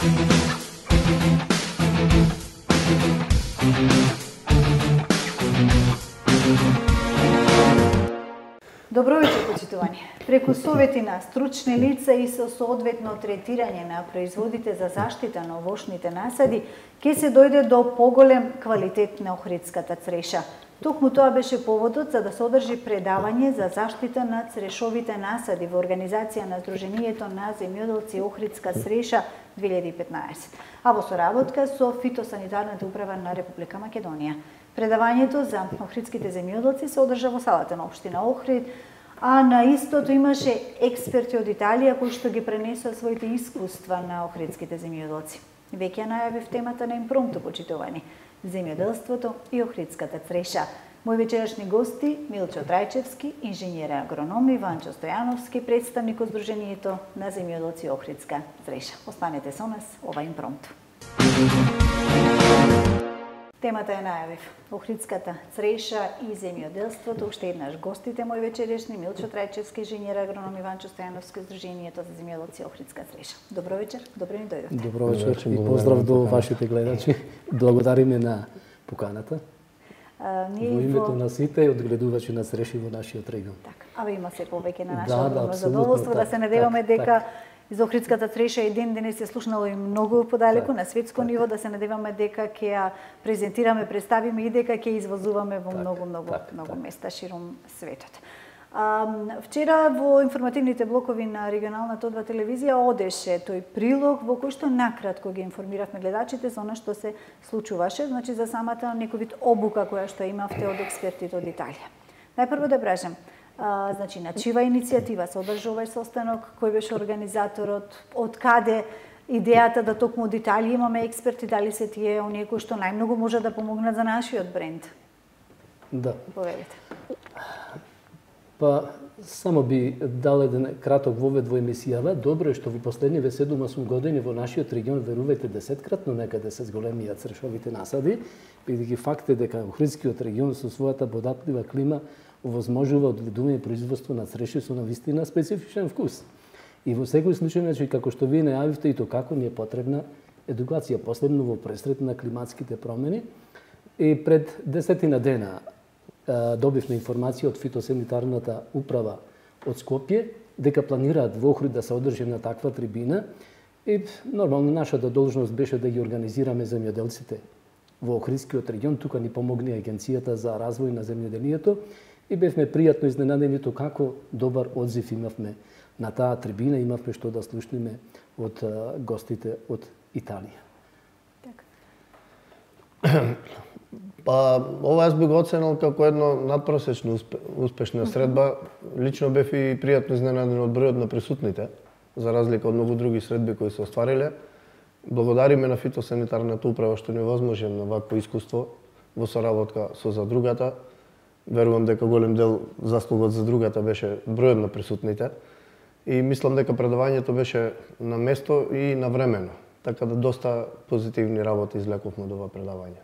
Добро вечер, почитувани. Преку совети на стручни лица и со соодветно третирање на производите за заштита на овошните насади, ќе се дојде до поголем квалитет на охридската цреша. Токму тоа беше поводот за да се одржи предавање за заштита на црешовите насади во организација на Сдруженијето на земјоделци Охридска цреша 2015, а во соработка со Фитосанитарната управа на Република Македонија. Предавањето за охридските земјоделци се одржа во салата на општина Охрид, а на истото имаше експерти од Италија кои што ги пренесоа своите искуства на охридските земјоделци. Веќе најавив темата на импромту, почитувани, земјоделството и охридската цреша. Мои вечерашни гости Милчо Трајчевски, инженер агроном, и Ванчо Стојановски, представник од Сдруженијето на земјоделци Охридска цреша. Останете со нас, ова импромту. Темата ја најавив. Охридската цреша и земјоделството. Уште еднаш гостите мои вечерешни Милчо Трајчевски, инженер агроном, и Ванчо Стојановски, Сдруженијето за земјоделци Охридска цреша. Добро вечер, добро ни дојдовте. Добро вечер и поздрав до вашите гледачи. Благодариме на поканата. Во името на сите одгледувачи на цреши во нашиот регион. Така, абе има се повеќе на наше огромно задоволство да се надеваме дека за Охридската цреша еден денес се слушнало и многу подалеку на светско ниво, да се надеваме дека ќе ја презентираме, представиме и дека ќе извозуваме во многу места широм светот. Вчера во информативните блокови на регионалната О2 телевизија одеше тој прилог во кој што накратко ги информиравме гледачите за она што се случуваше, значи за самата некој вид обука која што имавте од експертите од Италија. Најпрво да кажем, значи на чива иницијатива се одржа овај состанок, кој беше организаторот, од каде идејата да токму од Италија имаме експерти, дали се тие оние кои што најмногу може да помогнат за нашиот бренд? Да. Повелите. Па, само би дал еден краток вовед во емисијава. Добро е што во последниве 7-8 години во нашиот регион, верувајте, 10-кратно некаде се зголемија црешовите насади, бидејќи факт е дека Охридскиот регион со својата податлива клима овозможува одгледување и производство на цреши со навистина специфичен вкус. И во секој случај, значи, како што вие најавивте, и то како ни е потребна едукација, последно во пресрет на климатските промени. И пред 10 дена добивме информација од Фитосанитарната управа од Скопје дека планираат во Охрид да се одржи на таква трибина, и нормално нашата должност беше да ги организираме земјоделците во Охридскиот регион. Тука ни помогне Агенцијата за развој на земјоделието и бевме пријатно изненадени како добар одзив имавме на таа трибина, имавме што да слушнеме од гостите од Италија. Па, ова јас би го оценил како едно надпросечно успешна средба. Лично бев и пријатно изненаден од бројот на присутните, за разлика од многу други средби кои се оствариле. Благодариме на Фитосанитарната управа што ни овозможи на вакво искуство во соработка со задругата. Верувам дека голем дел заслугот за другата беше бројот на присутните. И мислам дека предавањето беше на место и навремено. Така да доста позитивни работи извлековме од ова предавање.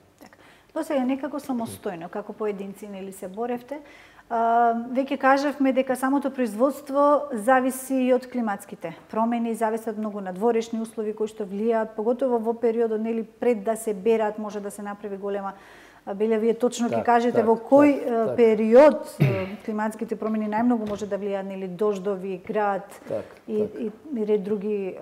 До сега некако самостојно, како поединци нели се боревте. Веќе кажавме дека самото производство зависи и од климатските промени, зависи од многу надворешни услови кои што влијаат, поготово во периодот нели пред да се берат, може да се направи голема беле, вие точно ќе кажете во кој период климатските промени најмногу може да влијаат, нели дождови, град и ред други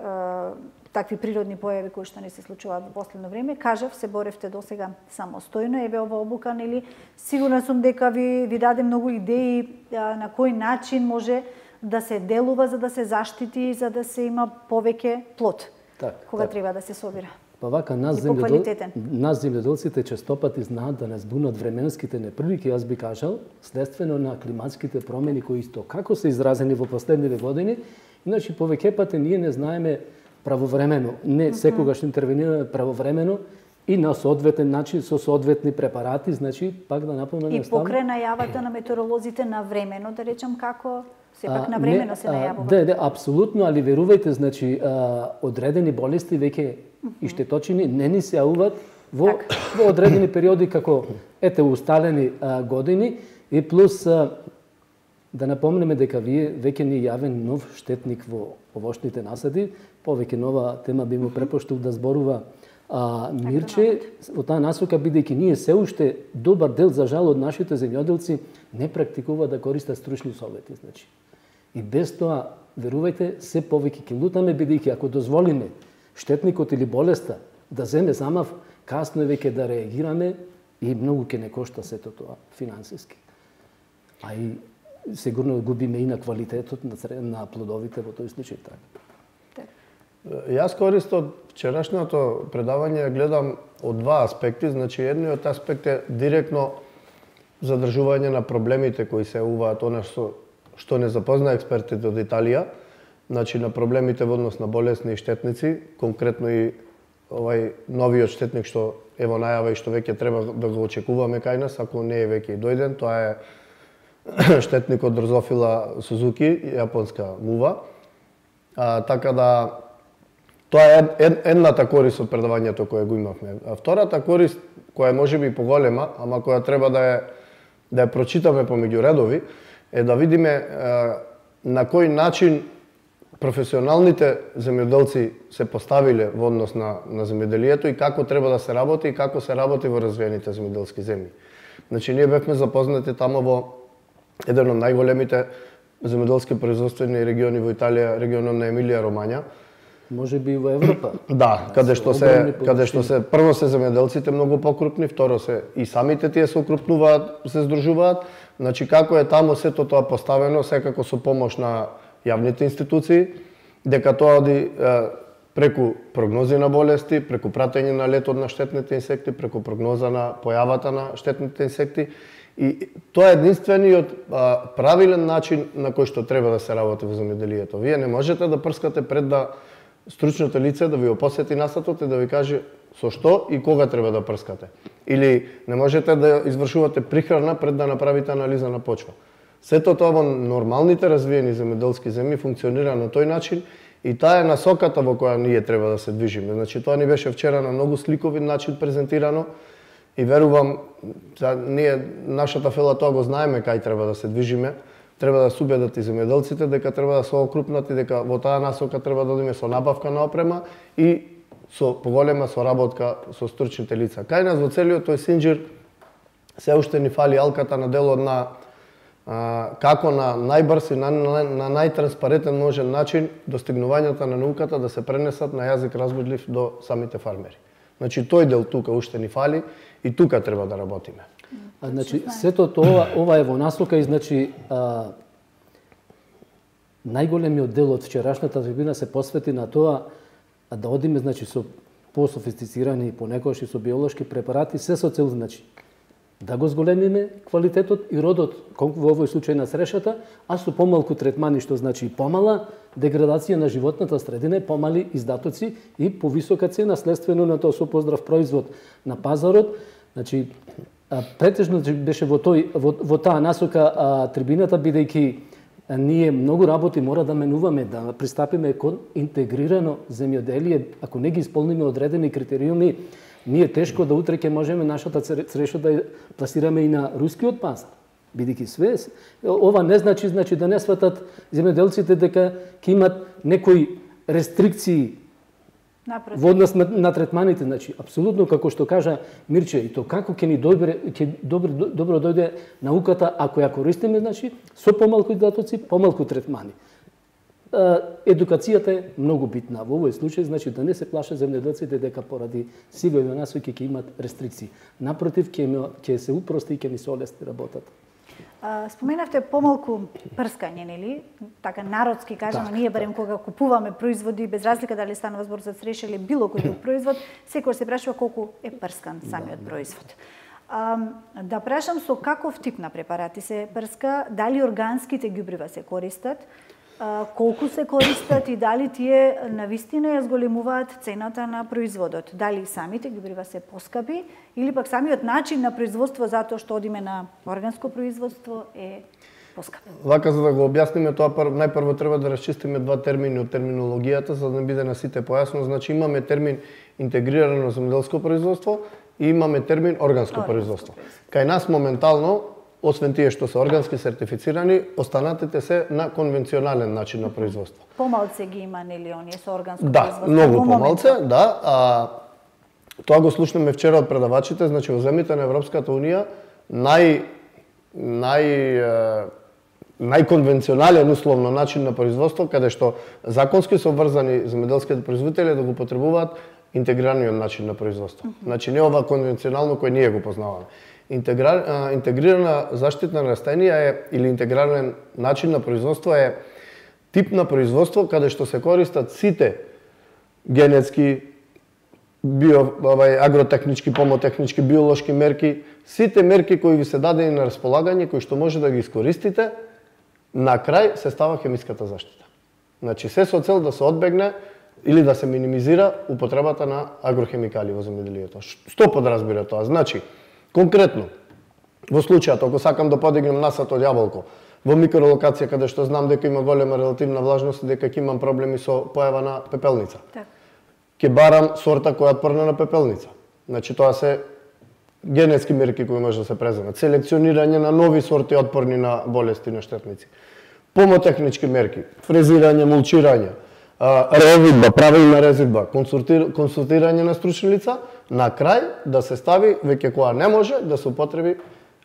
такви природни појави кои што не се случуваат во последно време. Кажав, се боревте досега самостојно, еве ова обука, нели, сигурна сум дека ви даде многу идеи на кој начин може да се делува за да се заштити, за да се има повеќе плод. Кога треба да се собира. Па вака, нас земјоделците честопати знаат да не збунат временските неприлики, јас би кажал, следствено на климатските промени кои исто како се изразени во последниве години, иначе повеќе пати ние не знаеме правовремено, не секогаш интервенираме правовремено и на соодветен начин со соодветни препарати, значи пак да напомнам и покрај најавата на метеоролозите на времено, да речам, како сепак на времено се најавува. Да, апсолутно, али верувајте, значи одредени болести веќе и штеточини не ни се јавуваат во одредени периоди како усталени години, и плюс да напомнеме дека вие веќе ни јавен нов штетник во овошните насади, повеќе нова тема би му препуштил да зборува Мирче, во таа насока, бидејќи ние се уште добар дел, за жал, од нашите земјоделци не практикува да користат стручни совети. Значи. И без тоа, верувајте, се повеќе ќе лутаме, бидејќи ако дозволиме штетникот или болеста да земе замав, касно е веќе да реагираме и многу ќе не кошта сето тоа финансиски. А и сигурно губиме и на квалитетот на плодовите во тој случај така. Јас користам од вчерашното предавање гледам од два аспекти, значи едниот аспект е директно задржување на проблемите кои се уваат, она што не запозна експертите од Италија, значи на проблемите во однос на болесни и штетници, конкретно и овај новиот штетник што е во најава и што веќе треба да го очекуваме кај нас, ако не е веќе и дојден, тоа е штетникот Дрозофила Сузуки, јапонска мува. Така да тоа е едната корист од предавањето кое го имавме. А втората корист, која може би поголема, ама која треба да ја прочитаме помеѓу редови, е да видиме на кој начин професионалните земјоделци се поставиле во однос на земјоделието и како треба да се работи и како се работи во развиените земјоделски земји. Значи, ние бевме запознати тамо во еден од најголемите земјоделски производствени региони во Италија, регионот на Емилија Ромања. Може би и во Европа. Да, каде што се прво се земјоделците многу покрупни, второ се и самите тие се укрупнуваат, се здружуваат. Значи како е таму сето тоа поставено, секако со помош на јавните институции, дека тоа оди преку прогнози на болести, преку пратење на летот на штетните инсекти, преку прогноза на појавата на штетните инсекти. И тоа е единствениот правилен начин на кој што треба да се работи во земјоделието. Вие не можете да прскате пред да стручното лице да ви опосети насатот и да ви каже со што и кога треба да прскате. Или не можете да извршувате прихрана пред да направите анализа на почва. Сето тоа во нормалните развиени земјоделски земји функционира на тој начин и таа е насоката во која ние треба да се движиме. Значи тоа ни беше вчера на многу сликовит начин презентирано и верувам, ние нашата фела тоа го знаеме кај треба да се движиме. Треба да се убедат и земјоделците дека треба да се окрупнат и дека во таа насока треба да одиме со набавка на опрема и со поголема соработка со стручните лица. Кај нас во целиот тој синџир се уште ни фали алката на делот на како на најбрз и на најтранспарентен можен начин достигнувањата на науката да се пренесат на јазик разбудлив до самите фармери. Значи тој дел тука уште ни фали и тука треба да работиме. Значи, сето тоа, ова е во насока и значи најголемиот дел од вчерашната трибина се посвети на тоа да одиме значи со пософистицирани понекогаш и со биолошки препарати, се со цел значи да го зголемиме квалитетот и родот, во овој случај на срешата, а со помалку третмани, што значи помала деградација на животната средина, помали издатоци и повисока цена следствено на тоа со поздрав производ на пазарот. Значи претежно беше во таа насока трибината, бидејќи ние многу работи мора да менуваме, да пристапиме кон интегрирано земјоделие. Ако не ги исполниме одредени критериуми, ние тешко да утре ќе можеме нашата цреша да ја пласираме и на рускиот пазар. Бидејќи све, ова не значи да не сватат земјоделците дека ќе имат некои рестрикции во однос на третманите. Значи, апсолутно како што кажа Мирче, и то како ќе ни добро дојде науката ако ја користиме, значи, со помалку издатоци, помалку третмани. Едукацијата е многу битна во овој случај, значи да не се плашат земјоделците дека поради сивови насоки ќе имат рестрикции. Напротив, ќе се упрости и ќе ни се олесни работата. Споменавте помалку прскање, нели? Така народски кажано, ние барем кога купуваме производи, без разлика дали станува збор за цреш или било кој друг производ, секој се прашува колку е прскан самиот производ. Да прашам со каков тип на препарати се прска, дали органските ѓубрива се користат, колку се користат и дали тие навистина ја зголемуваат цената на производот. Дали самите ѓубрива се поскапи или пак самиот начин на производство затоа што одиме на органско производство е поскап. Вака, за да го објасниме тоа, најпрво треба да расчистиме два термини од терминологијата, за да не биде на сите појасно. Значи имаме термин интегрирано земјоделско производство и имаме термин органско производство. Кај нас моментално освен тие што се органски сертифицирани, останатите се на конвенционален начин на производство. Помалце ги има нели оние со органско производство? Да, многу помалце, да. Тоа го слушнаме вчера од предавачите, значи во земјите на Европската унија најконвенционален условно начин на производство, каде што законски се обврзани земјоделските производители да го потребуваат интегрираниот начин на производство. Значи не ова конвенционално кој ние го познаваме. Интегрирана заштитна растенија е или интегриран начин на производство е тип на производство каде што се користат сите генетски, агротехнички, помотехнички, биолошки мерки, сите мерки кои ви се дадени на располагање, кои што може да ги искористите, на крај се става хемиската заштита. Значи се со цел да се одбегне или да се минимизира употребата на агрохемикали во земјоделието. Што подразбира тоа? Значи, конкретно, во случајот, ако сакам да подигнем насад од јаболко, во микролокација каде што знам дека има голема релативна влажност и дека ќе имам проблеми со појава на пепелница. Ќе барам сорта која е отпорна на пепелница. Значи тоа се генетски мерки кои може да се преземат. Селекционирање на нови сорти отпорни на болести, на штетници. Помотехнички мерки, фрезирање, мулчирање, резидба, правилна резидба, консултирање на стручни лица, на крај да се стави, веќе која не може, да се употреби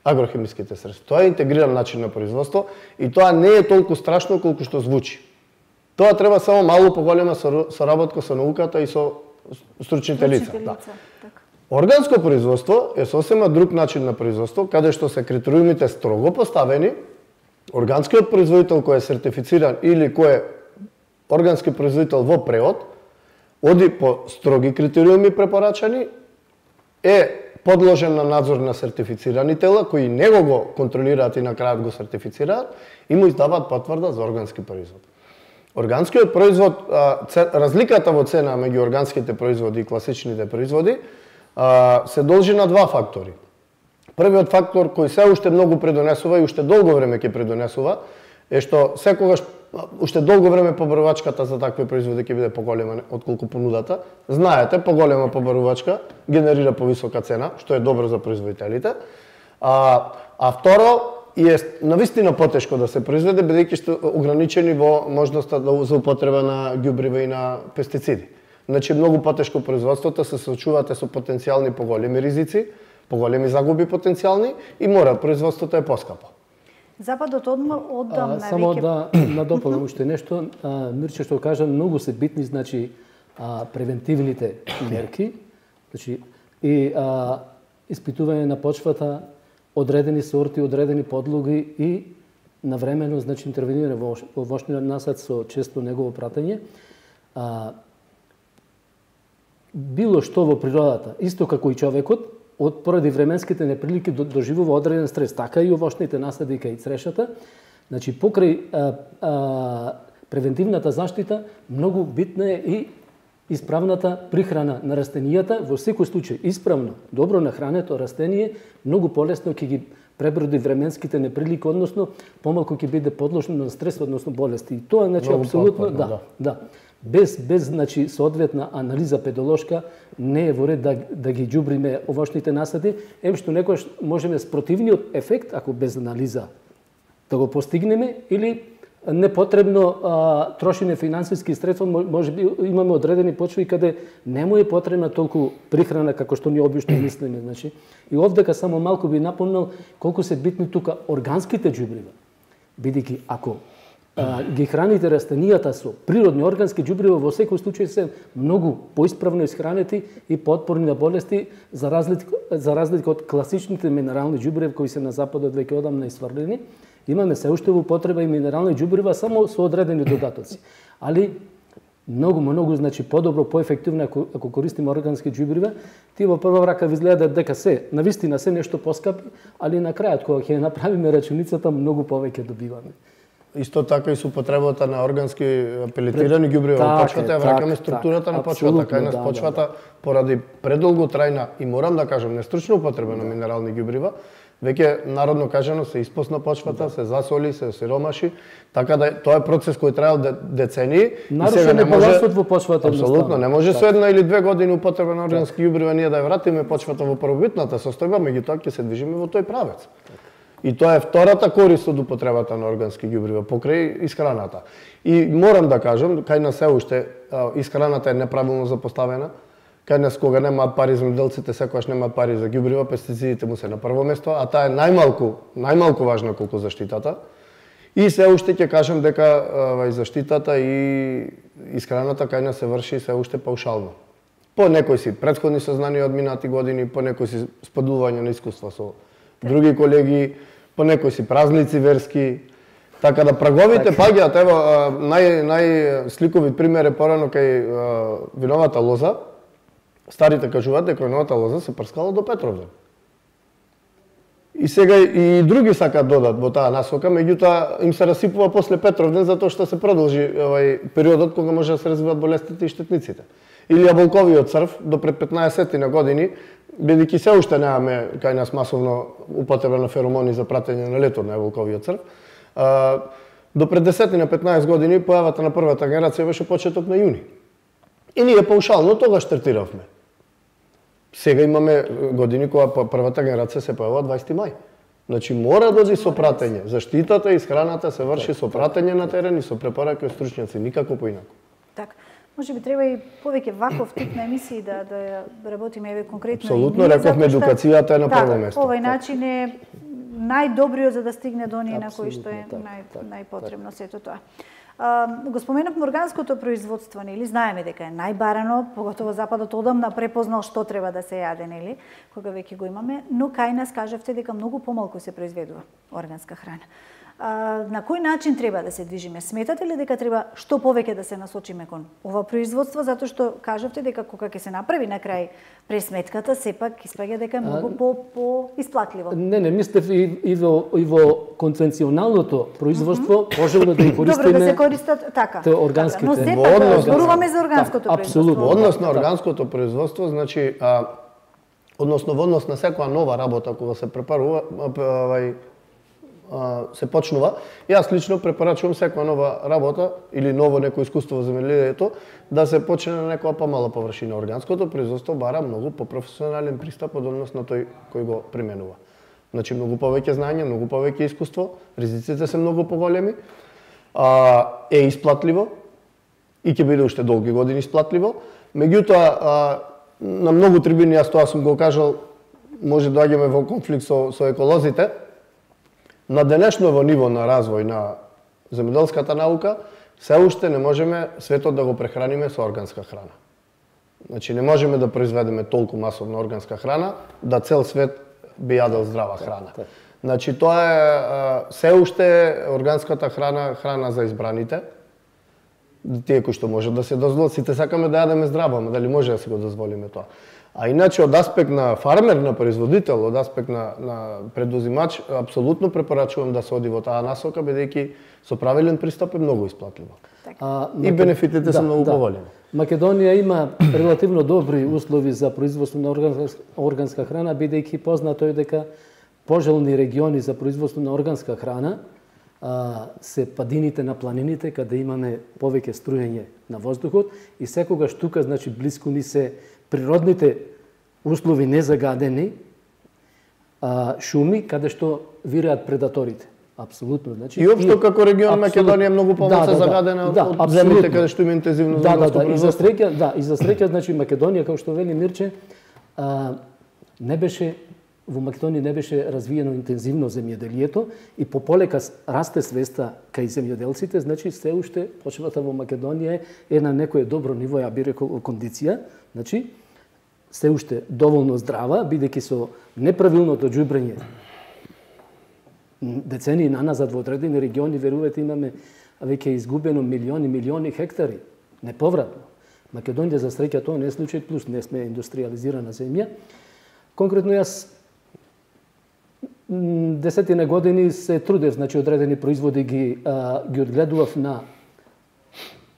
агрохемиските средства. Тоа е интегриран начин на производство и тоа не е толку страшно колку што звучи. Тоа треба само малку поголема соработка со науката и со стручните лица. Органско производство е сосема друг начин на производство, каде што се критериумите строго поставени. Органскиот производител кој е сертифициран или кој е органски производител во преод, оди по строги критериуми препорачани, е подложен на надзор на сертифицирани тела, кои него го контролираат и на крајот го сертифицираат и му издаваат потврда за органски производ. Органскиот производ, разликата во цена меѓу органските производи и класичните производи се должи на два фактори. Првиот фактор кој се уште многу придонесува и уште долго време ќе придонесува е што секогаш уште долго време побарувачката за такви производи ќе биде поголема отколку понудата. Знаете, поголема побарувачка генерира повисока цена, што е добро за производителите. А второ, е навистина потешко да се произведе, бидејќи сте ограничени во можноста за употреба на ѓубрива и на пестициди. Значи, многу потешко производството се соочувате со потенцијални поголеми ризици, поголеми загуби потенцијални и мора производството е поскапо. Западот оддамна веќе... Само да надополнам уште нешто, Мирче што кажа, многу се битни, значи, превентивните мерки, значи, и испитување на почвата, одредени сорти, одредени подлоги и навремено, значи, интервенирање во овошниот насад со често негово пратење. Било што во природата, исто како и човекот, поради временските неприлики доживува одреден стрес, така и овошните насади кај црешата. Значи, покрај превентивната заштита, многу битна е и исправната прихрана на растенијата. Во секој случај, исправно, добро нахрането растение, многу полесно ќе ги преброди временските неприлики, односно, помалку ќе биде подложено на стрес, односно болести. И тоа, значи, апсолутно, да. Без значи, соодветна анализа педолошка, не е во ред да ги ѓубриме овошните насади, што некојаш можеме с противниот ефект, ако без анализа, да го постигнеме, или непотребно трошење финансиски средства, може би имаме одредени почви каде не му е потребна толку прихрана како што ние обично мислиме. Значи, и овдека само малку би напомнал колку се битни тука органските ѓубрива. Бидејќи ако ги храните растенијата со природни органски ѓубрива, во секој случај се многу поисправно исхранети и поотпорни на болести, за разлика од класичните минерални ѓубриви кои се на западот веќе одамна исврлени. Имаме се уште во употреба и минерални ѓубрива само со одредени додатоци. Али многу значи подобро, поефективно ако користиме органски ѓубрива, тие во прва рака ви изгледаат дека се навистина се нешто поскапи, али на крајот кога ќе направиме рачуницата многу повеќе добиваме. Исто така и со употребата на органски пелетирани ѓубрива во почвата, ја враќаме структурата на почвата, кај нас почвата поради предолго трајна и морам да кажам нестручна употреба на минерални ѓубрива, веќе народно кажано се испосна почвата, се засоли, се сиромаши, така да тоа е процес кој траел децении. Нарушен е балансот во почвата. Апсолутно, не може со 1 или 2 години употреба на органски ѓубрива ние да ја вратиме почвата во првобитната состојба, меѓутоа ќе се движиме во тој правец. И тоа е втората корист од употребата на органски ѓубрива покрај исхраната. И морам да кажам, кај нас се уште исхраната е неправилно запоставена. Кај нас кога немаат пари земјоделците, секогаш немаат пари за ѓубрива, пестицидите му се на прво место, а таа е најмалку важна колку заштитата. И се уште ќе кажам дека заштитата и исхраната кај нас се врши се уште паушално. По некои си претходни сознанија од минати години, по некои си споделување на искуства со други колеги, по некои си празници верски. Така да праговите паѓаат, ево најсликовит пример е порано кај виновата лоза. Старите кажуваат дека виновата лоза се прскала до Петровден. И сега и други сакаат додат во таа насока, меѓутоа им се расипува после Петровден затоа што се продолжи периодот кога може да се развиваат болестите и штетниците. Или јаболковиот црв до пред 15 на години, бидејќи се уште немаме кај нас масовно употреба на феромони за пратење на летот на јаболковиот црв, до пред 10 на 15 години појавата на првата генерација беше почеток на јуни. И ние паушално тогаш третиравме. Сега имаме години кога првата генерација се појавува 20 мај. Значи мора да оди со пратење. Заштитата и исхраната се врши со пратење на терен и со препораки од стручњаци, никако поинаку. Така. Може би треба и повеќе ваков тип на емисии да работиме еве конкретно. Апсолутно, рековме едукацијата е на прво место. Овој начин е најдобриот за да стигне до оние на кои што е најпотребно сето тоа. Го споменавме органското производство, нели? Знаеме дека е најбарано, поготово Западот одамна препознал што треба да се јаде, нели? Кога веќе го имаме, но кај нас кажавте дека многу помалку се произведува органска храна. На кој начин треба да се движиме? Сметате ли дека треба што повеќе да се насочиме кон ова производство, затоа што кажавте дека кога ќе се направи на крај пресметката, сепак испаѓа дека е многу по исплатливо? Не, мислев и во конвенционалното производство пожелно да ги користиме. Добро да се користат така. Органските. Но сепак зборуваме за органското производство. Апсолутно. Однос на органското производство, значи односно во однос на секоја нова работа кога се препарува, се почнува. Јас лично препорачувам секоја нова работа или ново некој искуство во земјоделието да се почне на некоја помала површина. Органското производство бара многу попрофесионален пристап од однос на тој кој го применува. Значи многу повеќе знаење, многу повеќе искуство, ризиците се многу поголеми, е исплатливо и ќе биде уште долги години исплатливо. Меѓутоа на многу трибини, јас тоа сум го кажал, може да доаѓаме во конфликт со еколозите. На денешново ниво на развој на земјоделската наука, се уште не можеме светот да го прехраниме со органска храна. Значи не можеме да произведеме толку масовна органска храна да цел свет би јадел здрава храна. Значи тоа е се уште органската храна за избраните. Тие кои што можат да се дозволат, сите сакаме да јадеме здраво, ама дали може да се го дозволиме тоа? А иначе од аспект на фармер, на производител, од аспект на предузимач, апсолутно препорачувам да се оди во таа насока, бидејќи со правилен пристап е многу исплатливо. И бенефитите се многу поголеми. Македонија има релативно добри услови за производство на органска храна, бидејќи познато е дека пожелни региони за производство на органска храна се падините на планините, каде имаме повеќе струјање на воздухот и секогаш тука, значи, блиску ни се природните услови незагадени, шуми, каде што вираат предаторите. Апсолутно, значи. И општо како регион Македонија е многу помалку загадена од земјите каде што има интензивно земјоделско производство. И за среќа, значи Македонија, како што вели Мирче, во Македонија не беше развиено интензивно земјоделието и пополека расте свеста кај земјоделците, значи се уште почвата во Македонија е на некое добро ниво, ја би рекол, кондиција, значи се уште доволно здрава, бидејќи со неправилното џубрење децении наназад во одредени региони, верувате, имаме веќе изгубено милиони хектари, неповратно. Македонија за среќа тоа не е случај, плюс не сме индустриализирана земја. Конкретно јас десетина години се трудев, значи одредени производи ги одгледував на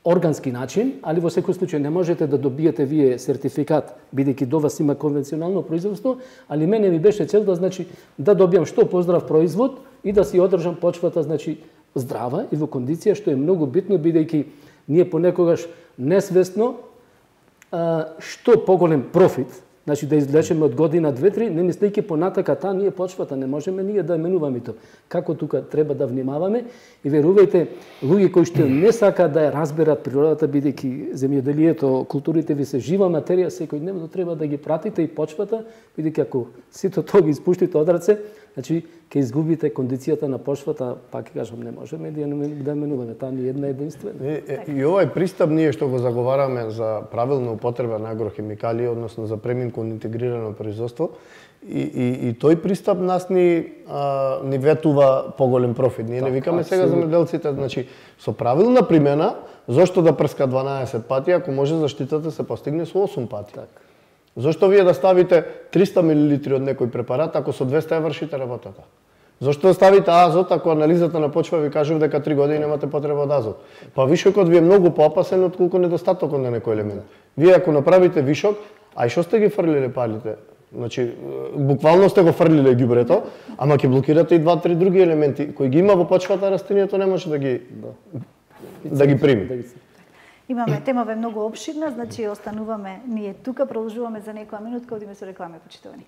органски начин, али во секој случај не можете да добиете вие сертификат, бидејќи до вас има конвенционално производство, али мене ми беше цел да, значи, да добијам што поздрав производ и да си одржам почвата, значи, здрава и во кондиција, што е многу битно, бидејќи ние понекогаш несвесно што поголем профит Значи да извлечеме од година 2-3, не мислејќи понатака ние почвата не можеме ние да менуваме тоа. Како тука треба да внимаваме и верувајте, луѓе кои што не сакаат да ја разберат природата, бидејќи земјоделието, културите ви се жива материја, секојдневно треба да ги пратите и почвата, бидејќи ако сите тоа ги испуштите од раце, значи ќе изгубите кондицијата на почвата, пак кажам, не можеме да менуваме, таа не е една единствена. И овој пристап ние што го заговараме за правилна употреба на агрохимикалии, односно за премин кон интегрирано производство, и тој пристап нас ни ветува поголем профит. Ние не викаме сега земјоделците, значи со правилна примена, зошто да прска 12 пати ако може заштитата се постигне со 8 пати. Зошто вие да ставите 300 мл од некој препарат ако со 200 ја вршите работата? Зошто да ставите азот ако анализата на почва ви кажува дека 3 години немате потреба од азот? Па вишокот ви е многу поопасен отколку недостатокот на некој елемент. Вие ако направите вишок, а и што сте ги фрлиле палите? Значи, буквално сте го фрлиле ѓубрето, ама ќе блокирате и 2-3 други елементи кои ги има во почвата, растенијето не може да ги прими. Имаме темава многу опширна, значи остануваме ние тука, продолжуваме за некоја минутка, одиме со рекламе, почитувани.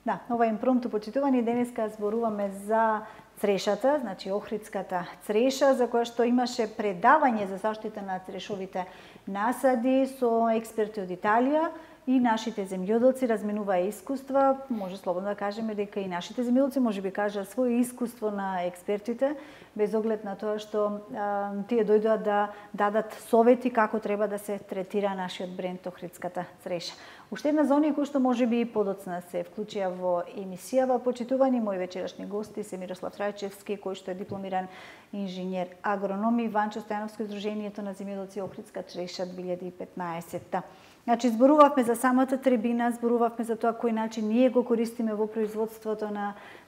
Да, ова е импромту, почитувани, денеска зборуваме за црешата, значи охридската цреша, за која што имаше предавање за заштита на црешовите насади со експерти од Италија и нашите земјоделци разменуваа искуства. Може слободно да кажеме дека и нашите земјоделци може би кажа свое искуство на експертите, без оглед на тоа што тие дојдоа да дадат совети како треба да се третира нашиот бренд охридската цреша. Уште една за оние кои што може би подоцна се вклучија во емисијава, почитувани мои вечерашни гости се Мирослав Трајчевски, кој што е дипломиран инженер агроном, и Ванчо Стојановски, Сдруженијето на земјоделци Охридска цреша 2015. Значи, зборувавме за самата требина, зборувавме за тоа кој начин ние го користиме во производството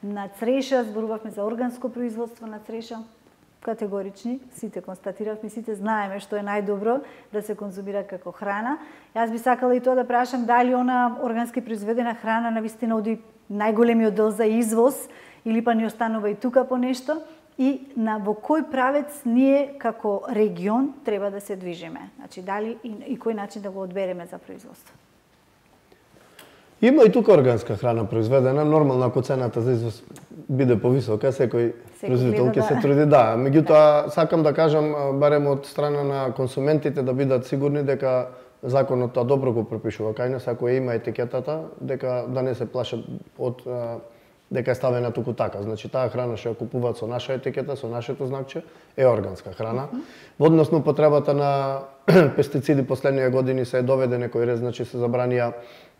на цреша, зборувавме за органско производство на цреша. Категорични, сите констатиравме, сите знаеме што е најдобро да се конзумира како храна. Јас би сакала и тоа да прашам дали она органски произведена храна навистина оди најголемиот дел за извоз или па ни останува и тука по нешто, и во кој правец ние како регион треба да се движиме. Значи дали и кој начин да го одбереме за производство. Има и тука органска храна произведена, нормално ако цената за извоз биде повисока, секој производител ќе се труди, да. Меѓутоа, сакам да кажам, барем од страна на консументите, да бидат сигурни дека законот тоа добро го пропишува кај нас, ако има етикетата, дека да не се плашат од дека е ставена туку така. Значи, таа храна што ја купуваат со наша етикета, со нашето знакче, е органска храна. Во однос на употребата на пестициди последниве години се доведе некој ред, значи се забранија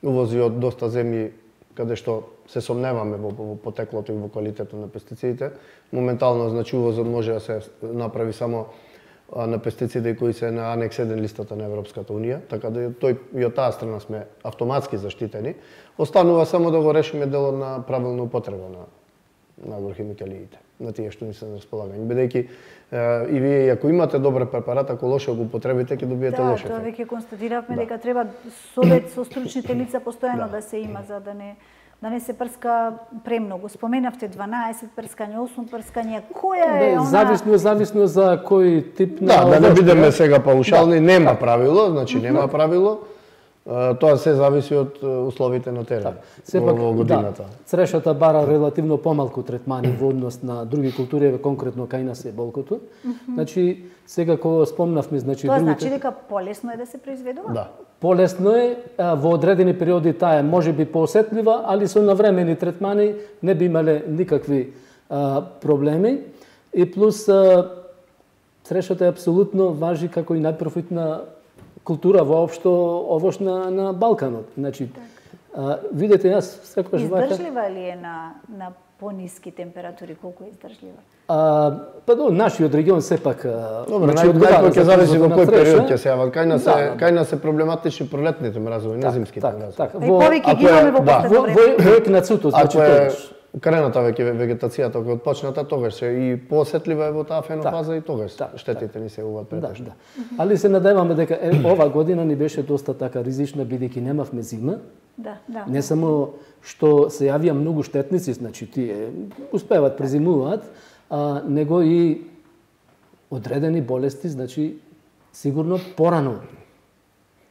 увози од доста земји каде што се сомневаме во потеклото и во квалитетот на пестицидите. Моментално, значи, увозот може да се направи само на пестициди кои се на анекс 1 листата на Европската унија, така да тој и од таа страна сме автоматски заштитени. Останува само да го решиме делот на правилна употреба на агрохимикалиите, на тие што ни се на располагање. Бидејќи и вие ако имате добар препарат, ако лошо го употребите, ќе добиете лош ефект. Да, тоа веќе констатиравме дека треба совет со стручните лица постојано да се има за да не се прска премногу. Споменавте 12 прскања, 8 прскања. Која е она? Зависно за кој тип на да не бидеме сега паушални, нема правило, значи нема правило. Тоа се зависи од условите на терен во годината. Црешата бара релативно помалку третмани во однос на други култури, конкретно кај нас е болкото. Значи, сега кога спомнавме, значи тоа значи дека полесно е да се произведува? Да. Полесно е, во одредени периоди таа е можеби поосетлива, али со навремени третмани не би имале никакви проблеми. И плюс црешата е апсолутно важи како и најпрофитна култура воопшто овош на Балканот. Значи, видете, јас секогаш издржлива ли е на пониски температури, колку е издржлива? Нашиот регион сепак најпоќе ќе зависи во кој период ќе се јават. Кај нас се проблематични пролетните мразови, не зимските мразови. Повеќе ги имаме во последно време. Во екнацуто, значи тогаш. Крената веќе вегетацијата која почната, тогаш се и поосетлива е во таа фенофаза и тогаш штетите ни се јавуваат претежно. Али се надеваме дека ова година ни беше доста така ризична, бидејќи немавме зима. Не само што се јавија многу штетници, значи тие успеваат презимуваат, него и одредени болести, значи сигурно порано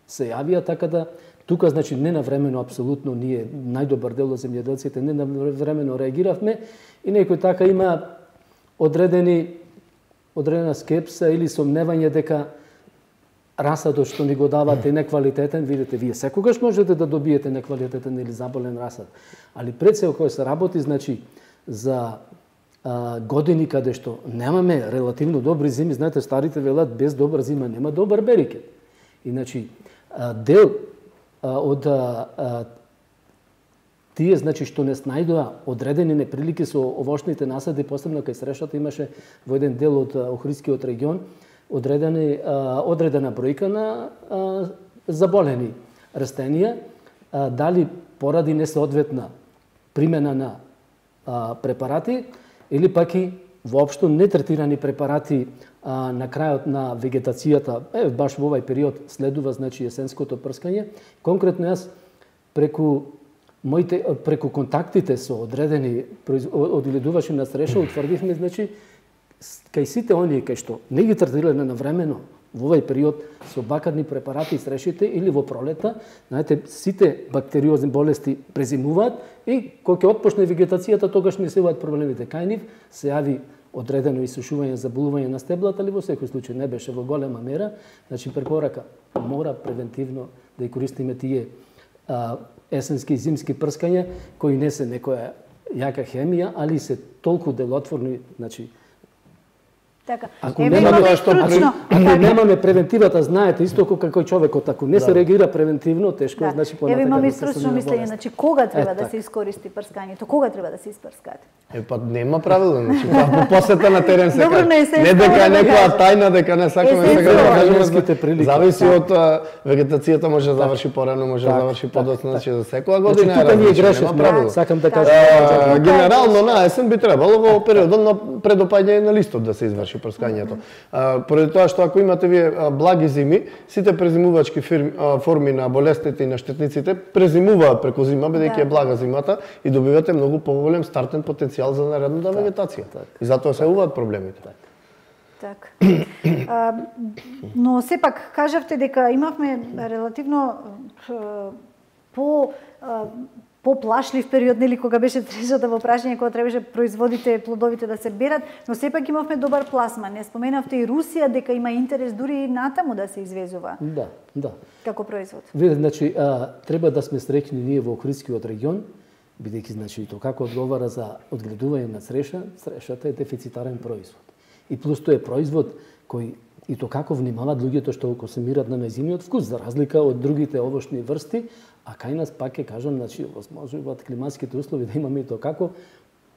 се јавија, така да тука значи ненавремено апсолутно ние најдобар дел од земјоделците ненавремено реагиравме и некој така има одредена скепса или сомневање дека расадот што ни го давате неквалитетен, видите, вие секогаш можете да добиете неквалитетен или заболен расад. Али пред се кога се работи, значи, за години каде што немаме релативно добри зими, знаете, старите велат, без добра зима нема добар берикет. Иначи, дел од тие, значи, што не снајдоа одредени неприлики со овошните насади, посебно кај Срешата имаше во еден дел од Охридскиот регион, одредена бројка на заболени растенија, дали поради несоодветна примена на препарати или пак и воопшто нетретирани препарати на крајот на вегетацијата, баш во овај период следува значи есенското прскање. Конкретно јас преку контактите со одредени одгледувачи на Среша утврдивме значи кај сите оние кај што не ги третирале навремено во овај период со бакарни препарати и Срешите или во пролета, знаете, сите бактериозни болести презимуваат и кога ќе отпочне вегетацијата, тогаш не се јават проблемите. Кај нив се јави одредено исушување, заболување на стеблата, али во секој случај не беше во голема мера. Значи препорака мора превентивно да ја користиме тие есенски и зимски прскања кои не се некоја јака хемија, али се толку делотворни, значи Така. Ако немаме превентивата, знаете, исто како човекот, ако не се реагира превентивно, тешко е, значи понатака. Имаме стручно мислење, значи кога треба да се искористи прскањето, кога треба да се испрскате? Па нема правило, значи по посета на терен се каже. Не дека е некоја тајна, дека не сакаме сега да кажеме. Зависи од вегетацијата, може да заврши порано, може да заврши подоцна, значи за секоја година е различно, нема правило. Сакам да кажам. Генерално на есен би требало во периодот на предопаѓање на листот да се изврши прскањето. Поради тоа што ако имате вие благи зими, сите презимувачки форми на болестите и на штетниците презимуваат преку зима, бидејќи е блага зимата и добивате многу поголем стартен потенцијал за наредната вегетација. И затоа се јавуваат проблемите. Така. Но сепак кажавте дека имавме релативно поплашлив период, нели, кога беше Срешата во прашање, кога требаше производите, плодовите да се берат, но сепак имавме добар пласман. Не споменавте и Русија дека има интерес дури и натаму да се извезува. Да. Како производ. Видете, значи треба да сме среќни ние во Охридскиот регион, бидејќи значи тоа како одговара за одгледување на Среша, Срешата е дефицитарен производ. И плюс тоа е производ кој и то како внимаваат луѓето што консумираат на мезимиот вкус, за разлика од другите овошни врсти, а кај нас пак ќе кажам, значи возможуваат климатските услови да имаме и то како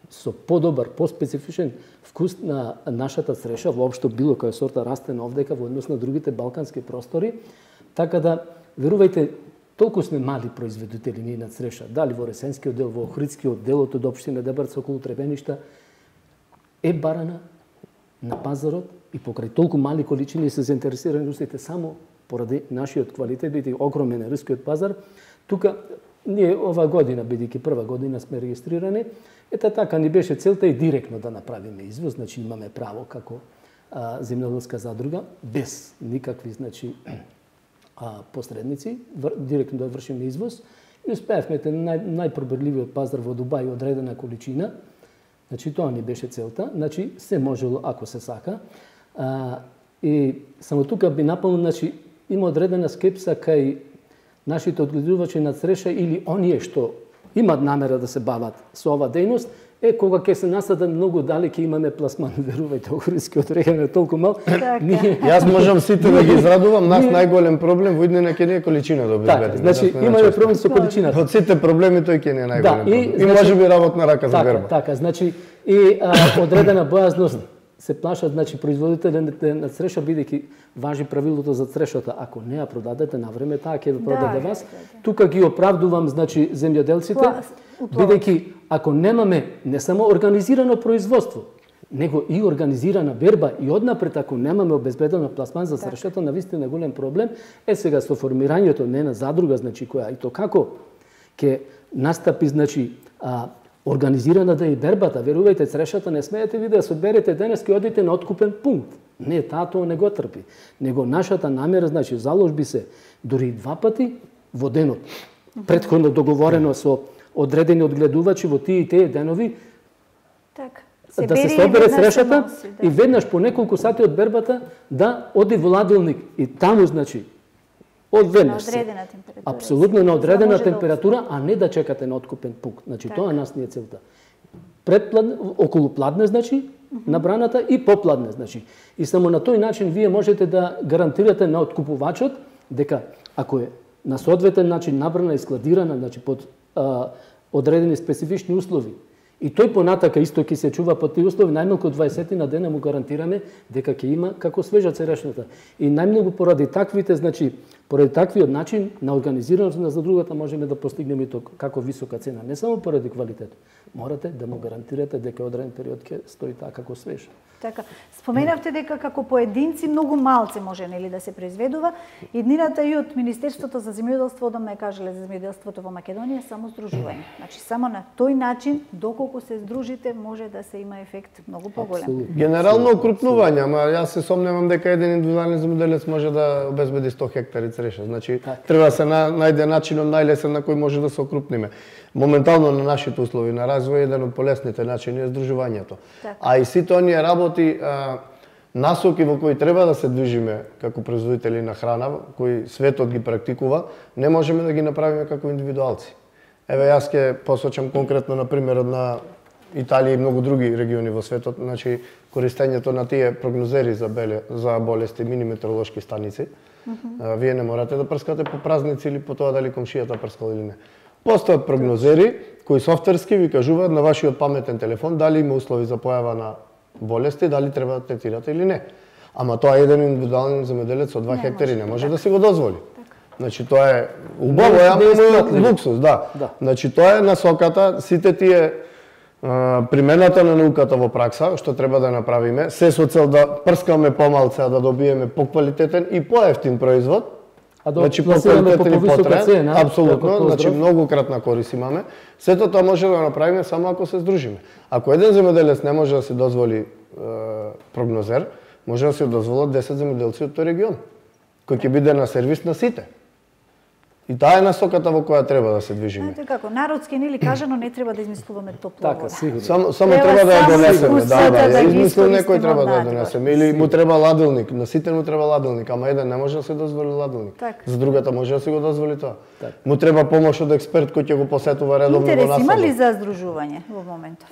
со подобар, поспецифичен вкус на нашата Среша, воопшто било која сорта растен овдека во однос на другите балкански простори, така да верувајте, толку сме мали производители ние на Среша, дали во Ресенскиот дел, во Охридскиот делот од општина Дебарца околу Требеништа, е барана на пазарот и покрај толку мали количини се заинтересирани русите само поради нашиот квалитет, бидејќи огромен е рускиот пазар. Тука ние ова година, бидејќи прва година сме регистрирани, така ни беше целта и директно да направиме извоз, значи имаме право како земјоделска задруга без никакви значи посредници, директно да вршиме извоз и успеавме најпробирливиот пазар во Дубај одредена количина. Значи тоа ни беше целта, значи се можело ако се сака. И само тука би напълно, значи има одредена скепса кај нашите одгледувачи на Среша или оние што имат намера да се бават со ова дејност, кога ќе се насадат многу далеќе имаме пласман, верувајте, Охридскиот регион е толку мал. Јас можам сите да ги израдувам, нас најголем проблем во иднина ќе не е количина да обезбедиме. Така, значи имаме проблем со количината. Од сите проблеми тој ќе не е најголем проблем. И можеби работна рака за верба. Така, значи и одредена бојазност се плашат, значи производителите на Среша, бидејќи важи правилото за Срешата, ако не ја продадете на време, таа ќе ве продаде вас. Тука ги оправдувам, значи земјоделците, бидејќи ако немаме не само организирано производство, него и организирана берба и однапред ако немаме обезбедено пласман за Срешата, навистина голем проблем. Сега со формирањето не на задруга, значи која и то како ќе настапи, значи Организирана да е и бербата, верувајте, црешата не смеете ви да се одберете денес и одите на откупен пункт. Не, таа тоа не го трпи. Него нашата намера, значи, заложби се дури и 2 пати во денот. Претходно договорено со одредени одгледувачи во тие и тие денови, да се собере црешата и веднаш по неколку сати од бербата да оди во ладилник. И таму, значи, одведнаш се. Апсолутно на одредена температура, а не да чекате на откупен пункт. Значи, тоа нас не е целта. Околу пладне, значи, на браната и попладне, значи. И само на тој начин вие можете да гарантирате на откупувачот дека ако е на соодветен начин набрана и складирана, значи под одредени специфични услови, и тој понатака исто ќе се чува под тие услови, најмалку 20 на дена му гарантираме дека ќе има како свежа церешната. И најмногу поради таквите, значи, поради таквиот начин на организираност на задругата можеме да постигнеме тоа како висока цена, не само поради квалитет. Морате да му гарантирате дека одреден период ќе стои така како свеж. Така, споменавте дека како поединци многу малце може нели да се произведува. Иднината и од Министерството за земјоделство одамна кажале за земјоделството во Македонија само здружување. Значи само на тој начин доколку се здружите може да се има ефект многу поголем. Генерално окрупнување, ама јас се сомневам дека еден индивидуален земјоделец може да обезбеди 100 хектари цреша. Значи треба да се најде начинот најлесен на кој може да се окрупниме. Моментално на нашите услови на развој еден од полесните начини е здружувањето. А и сите оние работи насоки во кои треба да се движиме како производители на храна, кои светот ги практикува, не можеме да ги направиме како индивидуалци. Еве јас ќе посочам конкретно на примерот на Италија и многу други региони во светот, значи користењето на тие прогнозери за болести, мини метеоролошки станици. Вие не морате да прскате по празници или по тоа дали комшијата прскал или не. Постојат прогнозери кои софтверски ви кажуваат на вашиот паметен телефон дали има услови за појава на болести, дали треба да третирате или не. Ама тоа еден индивидуален земјоделец од 2 хектари не може да се го дозволи. Значи тоа е убаво, ама луксус, да. Значи тоа е насоката, сите тие примената на науката во пракса, што треба да направиме, се со цел да прскаме помалце, а да добиеме поквалитетен и поевтин производ. Значи поквалитетен и потребен, апсолутно, значи многу кратна корис имаме. Сето тоа може да направиме само ако се здружиме. Ако еден земјоделец не може да си дозволи прогнозер, може да си дозволат 10 земјоделци од тој регион, кој ќе биде на сервис на сите. И таа е насоката во која треба да се движиме. Знаете како, народски нели кажано не треба да измислуваме топла вода. Само треба да ја донесеме, да, измислил некој треба да ја донесеме или му треба ладилник, на сите му треба ладилник, ама еден не може да се дозволи ладилник. За другата може да си го дозволи тоа. Му треба помош од експерт кој ќе го посетува редовно во насаду. Интерес има ли за здружување во моментот?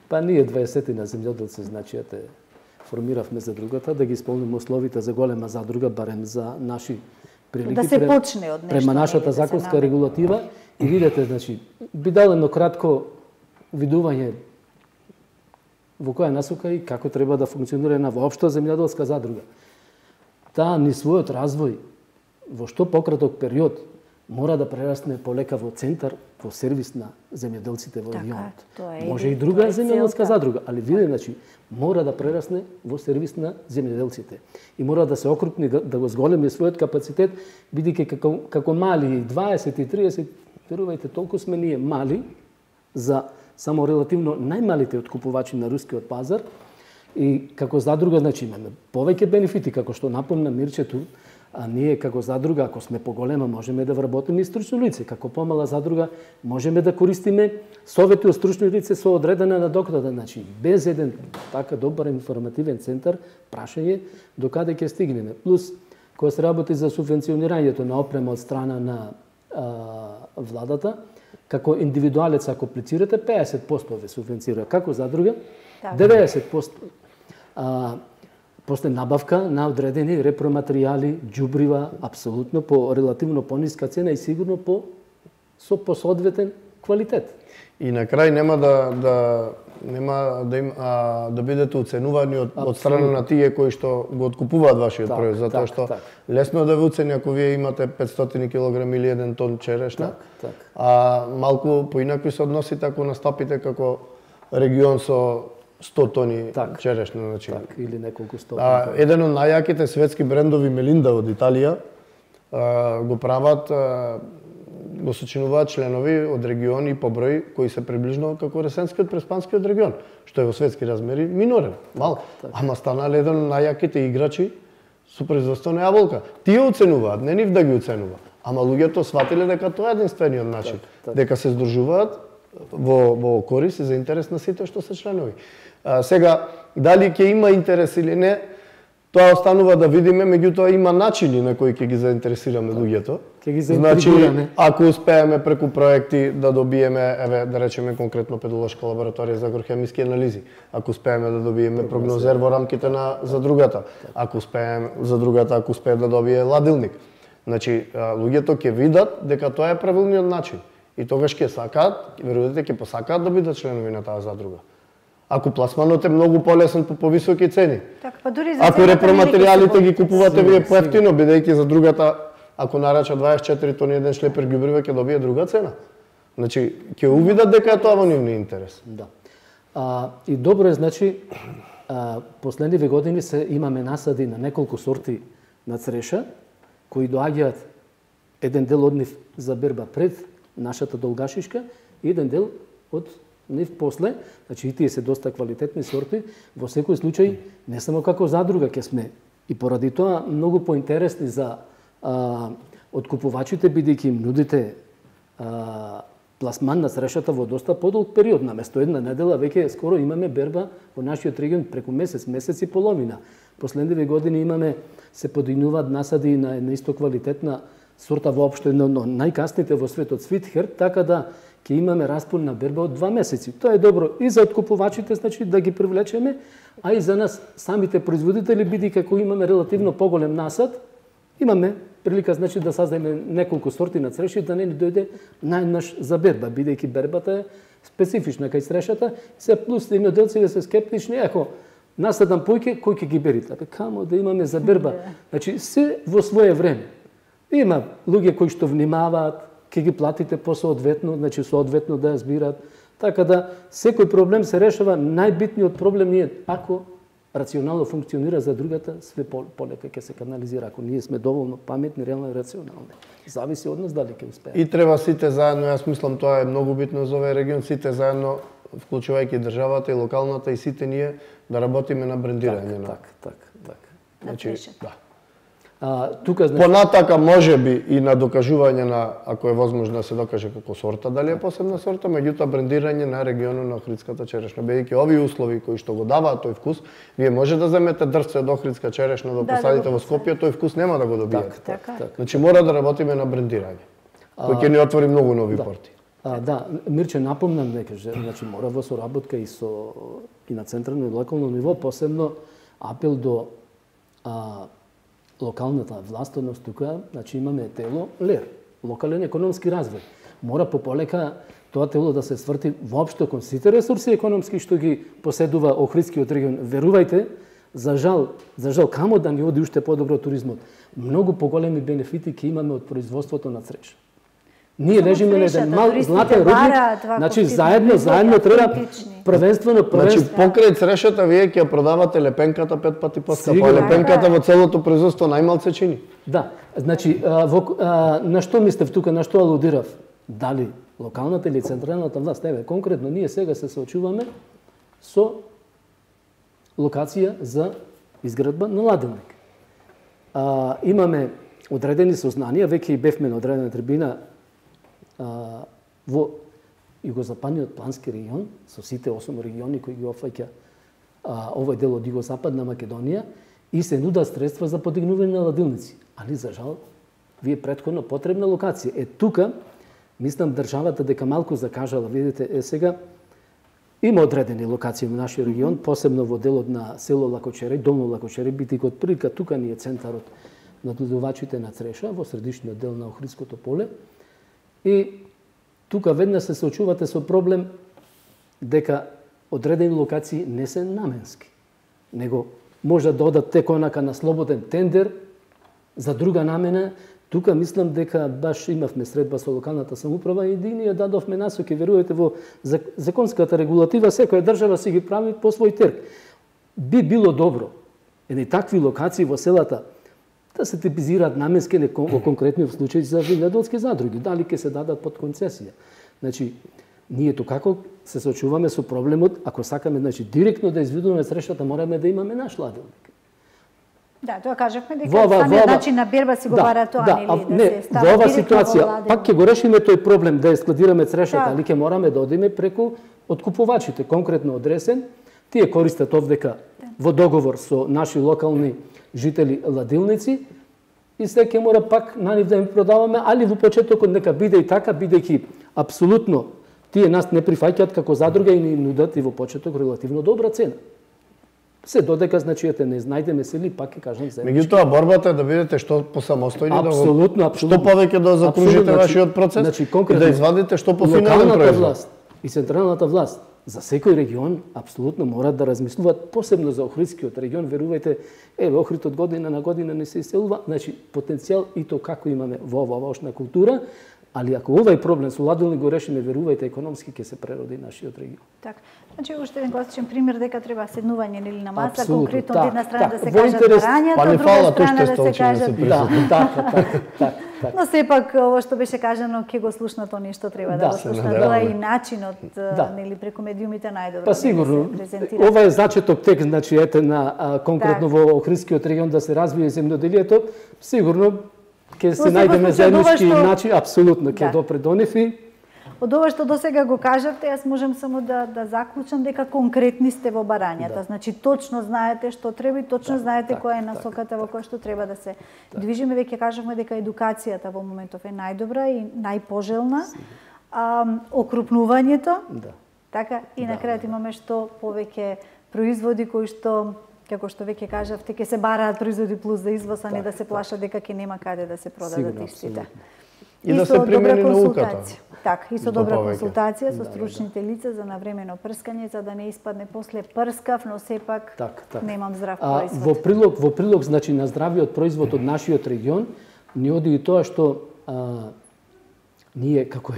Па ние 20 на земјоделци, значи формиравме задругата да ги исполниме условите за голема задруга, барем за наши прилики, да се почне од нешто према нашата законска регулатива и видете, значи, би дал едно кратко видување во која насока и како треба да функционира една воопшта земјоделска задруга. Таа ни својот развој во што пократок период мора да прерасне полека во центар, во сервис на земјоделците во регионот. Може и друга земјоделска задруга, али виде, значи, мора да прерасне во сервис на земјоделците. И мора да се окрупни, да го зголеми својот капацитет, бидејќи како мали 20 и 30, верувајте, толку сме ние мали за само релативно најмалите откупувачи на рускиот пазар и како задруга, значи, имаме повеќе бенефити, како што напомна Мирчето, а ние како задруга, ако сме поголема, можеме да вработиме и стручно лице. Како помала задруга, можеме да користиме совети од стручно лице со одредена надокнада. Значи, без еден така добар информативен центар, прашање до каде ќе стигнеме. Плюс, кога се работи за субвенционирањето на опрема од страна на владата, како индивидуалец, ако аплицирате, 50% ве субвенцира. Како задруга, 90%. После набавка на одредени репроматеријали, џубрива, апсолутно по релативно пониска цена и сигурно со посоодветен квалитет. И на крај нема да бидете оценувани од страна на тие кои што го откупуваат вашиот производ, затоа што лесно да ве оцени ако вие имате 500 кг или 1 тон черешна, а малку поинакви се односите ако настапите како регион со 100 тони черешна, значи. Или неколку 100. Еден од најаките светски брендови Мелинда од Италија го прават го сочинуваат членови од региони по број кои се приближно како Ресенскиот Преспанскиот регион, што е во светски размери минорен, мал, ама станале еден од најаките играчи со производство на јаболка. Тие оценуваат, не нив да ги оценува. Ама луѓето сватиле дека тоа е единствениот начин, дека се здружуваат во корис и за интерес на сите што се членови. Сега, дали ќе има интерес или не, тоа останува да видиме, меѓутоа има начини на кои ќе ги заинтересираме луѓето. Значи, ако успееме преку проекти да добиеме, еве, да речеме конкретно педолошка лабораторија за агрохемиски анализи, ако успееме да добиеме прогнозер во рамките на за другата, ако успее да добие ладилник. Значи, луѓето ќе видат дека тоа е правилниот начин и тогаш ќе сакаат, верувате, ќе посакаат да бидат членови на таа задруга. Ако пласманот е многу полесен по повисоки цени. Па дури за ако репроматеријалите ги купувате вие поевтино, бидејќи за другата, ако нарача 24 тони еден шлепер ѓубриво, ќе добие друга цена. Значи, ќе увидат дека е тоа во нивни интерес. Да. И добро е, значи, последниве години имаме насади на неколку сорти на цреша, кои доаѓаат еден дел од нив за берба пред нашата долгашишка и еден дел од нив после, значи и тие се доста квалитетни сорти, во секој случај не само како задруга ќе сме и поради тоа многу поинтересни за откупувачите, бидејќи им нудите пласман на црешата во доста подолг период, наместо една недела веќе скоро имаме берба во нашиот регион преку месец и половина. Последниве години имаме се подигнуваат насади на една исто квалитетна сорта воопшто, но најкасните во светот Свитхер, така да ќе имаме распон на берба од 2 месеци. Тоа е добро и за откупувачите, значи да ги привлечеме, а и за нас самите производители, бидејќи како имаме релативно поголем насад, имаме прилика, значи, да создаеме неколку сорти на цреши, да не ни дојде најнаш за берба, бидејќи бербата е специфична кај црешата, се плюс земјоделците се скептични, ако насадам појке, кој ќе ги берите? Камо да имаме за берба? Значи, се во свое време. Има луѓе кои што внимаваат, ќе ги платите посоодветно, значи соодветно да ја збираат. Така да секој проблем се решава, најбитниот проблем е ако рационално функционира за другата, све полека ќе се канализира, ако ние сме доволно паметни, реално и рационални. Зависи од нас дали ќе успееме. И треба сите заедно, јас мислам тоа е многу битно за овој регион, сите заедно, вклучувајќи државата и локалната и сите ние да работиме на брендирање. Так. Значи, да. Тука, значи... Понатака може би и на докажување на, ако е возможно да се докаже како сорта, дали е посебна сорта, меѓутоа брендирање на регионот на охридската черешна. Бидејќи овие услови кои што го даваат тој вкус, вие може да земете дрвце од охридска черешна да посадите во Скопје, тој вкус нема да го добиете. Така. Значи мора да работиме на брендирање, кој ќе ни отвори многу нови порти. Да, Мирче, напомнам дека значи мора во соработка и на централно и локално ниво, посебно апел до локалната власт, односно тука, значи имаме тело ЛЕР, локален економски развој. Мора пополека тоа тело да се сврти воопшто кон сите ресурси економски што ги поседува Охридскиот регион. Верувајте, за жал камо да ни оди уште подобро туризмот. Многу поголеми бенефити ќе имаме од производството на цреш. Ние лежиме на еден мал златен рудник, значи заедно треба првенствено. Значи покрај црешата вие ќе продавате лепенката 5 пати поскапа, лепенката во целото производство најмалце чини. Да, значи на што мислев тука, на што алудирав? Дали локалната или централната власт, еве конкретно ние сега се соочуваме со локација за изградба на ладилник. Имаме одредени сознанија, веќе и бевме на одредена трибина во југозападниот плански регион, со сите 8 региони кои ги опфаќа овој дел од југозападна Македонија, и се нудат средства за подигнување на ладилници. Али, за жал, ви е претходно потребна локација. Тука, мислам, државата дека малку закажала, видите, сега, има одредени локации во нашиот регион, посебно во делот на село Лакочери, Долно Лакочери, бидејќи од прилика тука ни е центарот на надледувачите на цреша, во средишниот дел на Охридското поле. И тука веднаш се соочувате со проблем дека одредени локации не се наменски, него може да одат тек онака на слободен тендер за друга намена. Тука мислам дека баш имавме средба со локалната самоуправа и ние дадовме насоки, верувате, во законската регулатива, секоја држава си ги прави по свој терк. Би било добро едни такви локации во селата да се типизираат наменски во конкретни случаи за земјоделски задруги, дали ќе се дадат под концесија. Значи, ние како се соочуваме со проблемот, ако сакаме директно да изведуваме срештата, мораме да имаме наш ладилник. Да, тоа кажавме дека самиот начин на берба си го бара тоа, нели, да се стави во ова директно ситуација, во ладилник. пак ќе го решиме тој проблем да ја складираме трешата, али ќе мораме да одиме преку откупувачите, конкретно одресен. Тие користат овдека во договор со наши локални жители ладилници и се ќе мора пак на нив да им продаваме, али во почетокот нека биде и така, бидејќи апсолутно тие нас не прифаќаат како задруга и ни нудат и во почеток релативно добра цена. Се додека, значи, не знајдеме се ли, пак ќе кажам заеднички. Меѓутоа, борбата е да бидете што посамостојни, апсолутно, што повеќе да закружите вашиот процес, значи, и да извадите што пофинален производ. Власт и централната власт за секој регион апсолутно морат да размислуваат, посебно за Охридскиот регион, верувајте, Охрид од година на година не се иселува, значи потенцијал и то како имаме во оваа овошна култура, али ако овај проблем со ладилник го решиме, верувајте, економски ќе се прероди нашиот регион. Така. Значи уште еден класичен пример дека треба седнување нели на маса, Апсолютно, конкретно од една страна да се во кажат интерес- барањата, од друга страна да се кажат. така. Но сепак ово што беше кажано ќе го слушнат они што треба да го слушнат. Тоа е и начинот нели преку медиумите најдобро. Па сигурно. Да се презентира. Ова е зачеток текст, значи ете на конкретно во Охридскиот регион да се развие земјоделието, сигурно ќе се најдеме заеднички начин, апсолутно ќе допре до нив и од ова што досега го кажавте, јас можам само да заклучам дека конкретни сте во барањата. Значи точно знаете што треба и точно знаете која е насоката во која што треба да се движиме. Веќе кажавме дека едукацијата во моментов е најдобра и најпожелна. Окрупнувањето. Така и на крајот имаме што повеќе производи кои што како што веќе кажавте, ќе се бараат производи плюс за извоз, а не да се плашат дека ќе нема каде да се продадат истите. И да се примени науката. Така, и со добра консултација со стручните лица за навремено прскање, за да не испадне после прскав, но сепак немам здрав производ. Во прилог значи на здравиот производ од нашиот регион, ни оди и тоа што ние како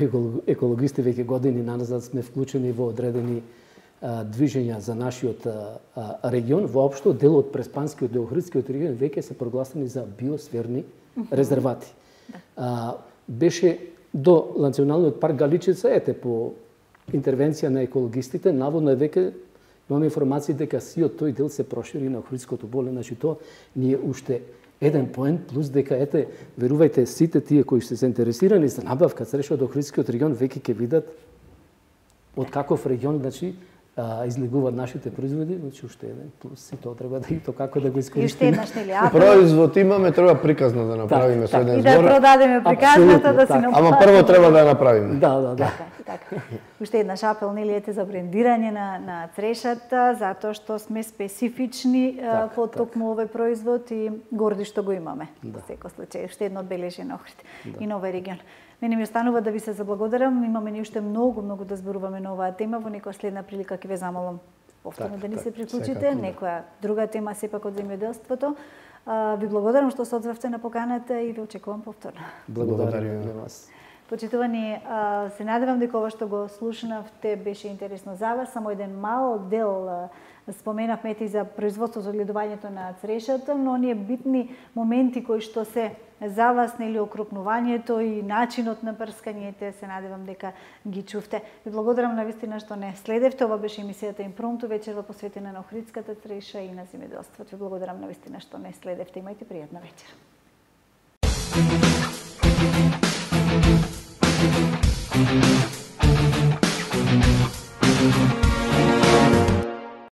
екологисти веќе години назад сме вклучени во одредени движења за нашиот регион. Воопшто дел од Преспанскиот и Охридскиот регион веќе се прогласени за биосферни резервати. Беше до Националниот парк Галичица, ете по интервенција на екологистите, наводно е веќе имаме информации дека сиот тој дел се прошири на Охридското поле, значи тоа ние уште еден поент плюс дека ете верувајте сите тие кои се заинтересирани за набавка црешот од Охридскиот регион веќе ќе видат од каков регион значи излегуваат нашите производи, значи уште еден плюс и тоа треба да и тоа како да го искористиме. И уште еднаш нели производ имаме, треба приказна да направиме со еден збор. И да продадеме приказната да си наплатиме. Ама прво треба да ја направиме. Да. Така. Уште еднаш апел нели ете за брендирање на црешата, затоа што сме специфични по токму овој производ и горди што го имаме. Во секој случај, уште едно одбележен Охрид и на овој регион. Мене ми останува да ви се заблагодарам, имаме ни уште многу да зборуваме на оваа тема, во некоја следна прилика ќе ве замолам повторно да ни се приклучите, некоја друга тема сепак од земјоделството. Ви благодарам што се одзвавте на поканата и ве очекувам повторно. Благодарам на вас. Почитувани, се надевам дека ова што го слушнавте беше интересно за вас. Само еден мал дел споменавме и за производството, за одгледувањето на црешата, но оние битни моменти кои што се за вас, нели окрупнувањето и начинот на прскањето, се надевам дека ги чувте. Ви благодарам навистина што не следевте. Ова беше емисијата Импромту, вечерва посветена на Охридската треша и на земјоделството. Ви благодарам навистина што не следевте. Имајте пријатна вечер. Thank you.